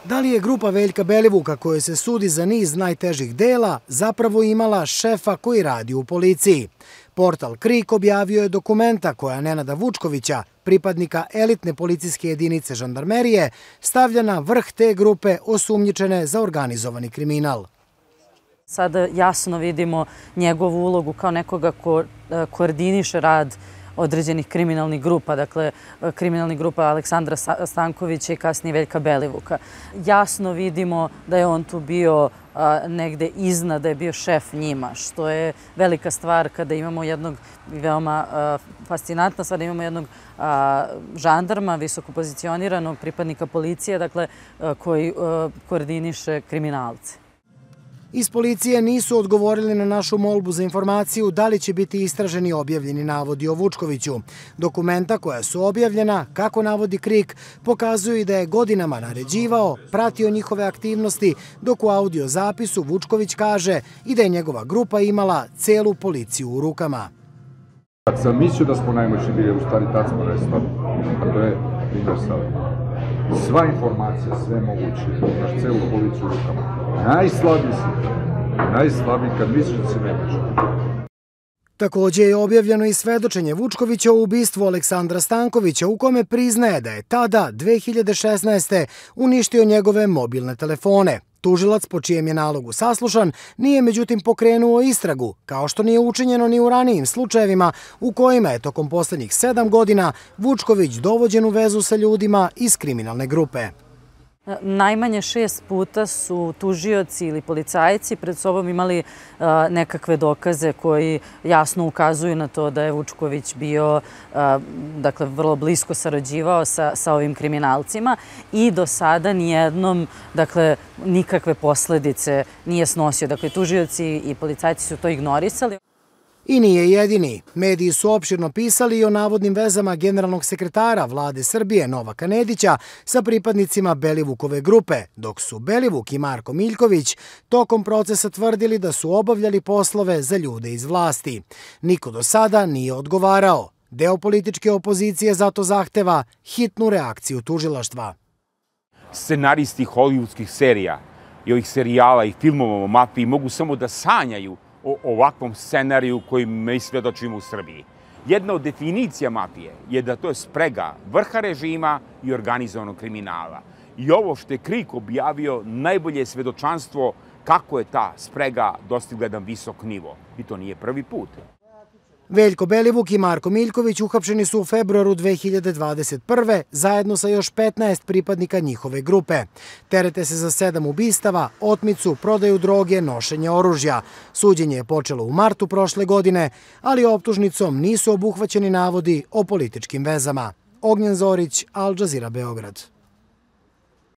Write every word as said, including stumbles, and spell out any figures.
Da li je grupa Veljka Belivuka, kojoj se sudi za niz najtežih dela, zapravo imala šefa koji radi u policiji? Portal Krik objavio je dokumenta koja Nenada Vučkovića, pripadnika elitne policijske jedinice žandarmerije, stavlja na vrh te grupe osumnjičene za organizovani kriminal. Sada jasno vidimo njegovu ulogu kao nekoga ko koordiniše rad određenih kriminalnih grupa, dakle kriminalnih grupa Aleksandra Stankovića i kasnije Veljka Belivuka. Jasno vidimo da je on tu bio negde iznad, da je bio šef njima, što je velika stvar kada imamo jednog, veoma fascinantna stvar, da imamo jednog žandarma, visoko pozicioniranog pripadnika policije, dakle koji koordiniše kriminalce. Iz policije nisu odgovorili na našu molbu za informaciju da li će biti istraženi objavljeni navodi o Vučkoviću. Dokumenta koja su objavljena, kako navodi Krik, pokazuju i da je godinama naređivao, pratio njihove aktivnosti, dok u audio zapisu Vučković kaže i da je njegova grupa imala celu policiju u rukama. Kad sam mislio da smo najmoćni bili, u stvari tad smo nestali, a to je primjer sada. Sva informacija, sve moguće, imaš celu policiju u rukama. Najslabiji si, najslabiji kad misliš da si nemoćan. Također je objavljeno i svedočenje Vučkovića o ubistvu Aleksandra Stankovića, u kome priznaje da je tada, dve hiljade šesnaeste. uništio njegove mobilne telefone. Tužilac, po čijem je nalogu saslušan, nije međutim pokrenuo istragu, kao što nije učinjeno ni u ranijim slučajevima u kojima je tokom posljednjih sedam godina Vučković dovođen u vezu sa ljudima iz kriminalne grupe. Najmanje šest puta su tužioci ili policajci pred sobom imali nekakve dokaze koji jasno ukazuju na to da je Vučković bio, dakle, vrlo blisko sarađivao sa, sa ovim kriminalcima i do sada nijednom, dakle, nikakve posledice nije snosio. Dakle, tužioci i policajci su to ignorisali. I nije jedini. Mediji su opširno pisali i o navodnim vezama generalnog sekretara vlade Srbije Novaka Nedića sa pripadnicima Belivukove grupe, dok su Belivuk i Marko Miljković tokom procesa tvrdili da su obavljali poslove za ljude iz vlasti. Niko do sada nije odgovarao. Deo političke opozicije zato zahteva hitnu reakciju tužilaštva. Scenaristi hollywoodskih serija i ovih serijala i filmova o mafiji mogu samo da sanjaju o ovakvom scenariju koji mi svjedočimo u Srbiji. Jedna od definicija mafije je da to je sprega vrha režima i organizovanog kriminala. I ovo što je Krik objavio najbolje je svjedočanstvo kako je ta sprega dostigla jedan visok nivo. I to nije prvi put. Veljko Belivuk i Marko Miljković uhapšeni su u februaru dve hiljade dvadeset prve. zajedno sa još petnaest pripadnika njihove grupe. Terete se za sedam ubistava, otmicu, prodaju droge, nošenje oružja. Suđenje je počelo u martu prošle godine, ali optužnicom nisu obuhvaćeni navodi o političkim vezama. Ognjen Zorić, Al Jazeera, Beograd.